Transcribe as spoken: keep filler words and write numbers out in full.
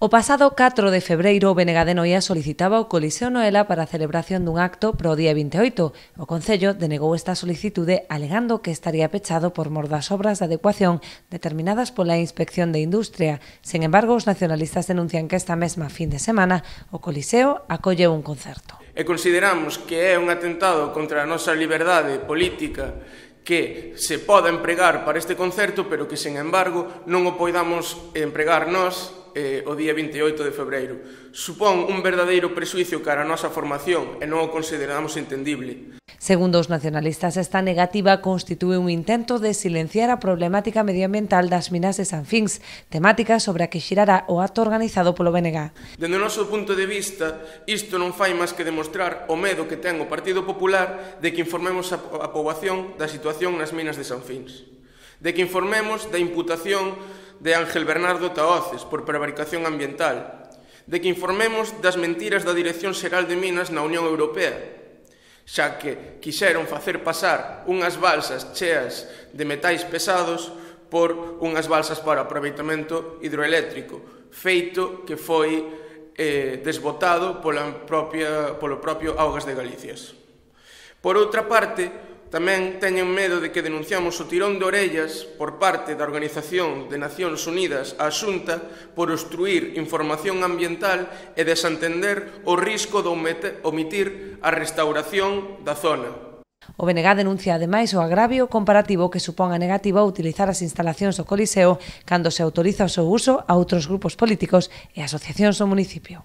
O pasado catro de febreiro, o B N G de Noia solicitaba o Coliseo Noela para a celebración dun acto pro día vinte e oito. O Concello denegou esta solicitude alegando que estaría pechado por mor das obras de adecuación determinadas pola Inspección de Industria. Sen embargo, os nacionalistas denuncian que esta mesma fin de semana o Coliseo acolleu un concerto. E consideramos que é un atentado contra a nosa liberdade política que se poda empregar para este concerto, pero que, sen embargo, non o poidamos empregar nós eh, o día vinte e oito de febreiro. Supón un verdadeiro presuicio cara a nosa formación e non o consideramos entendible. Segundo os nacionalistas, esta negativa constitúe un intento de silenciar a problemática medioambiental das minas de Sanfins, temática sobre a que xirará o acto organizado polo B N G. Dende o noso punto de vista, isto non fai máis que demostrar o medo que ten o Partido Popular de que informemos a, a poboación da situación nas minas de Sanfins, de que informemos da imputación de Ángel Bernardo Tahoces por prevaricación ambiental, de que informemos das mentiras da Dirección Xeral de Minas na Unión Europea, xa que quixeron facer pasar unhas balsas cheas de metais pesados por unhas balsas para aproveitamento hidroeléctrico, feito que foi eh, desbotado pola propia, polo propio Augas de Galicias. Por outra parte, tamén teñen medo de que denunciamos o tirón de orellas por parte da Organización de Nacións Unidas á Xunta por obstruir información ambiental e desentender o risco de omitir a restauración da zona. O B N G denuncia ademais o agravio comparativo que supón a negativa utilizar as instalacións do Coliseo cando se autoriza o seu uso a outros grupos políticos e asociacións do municipio.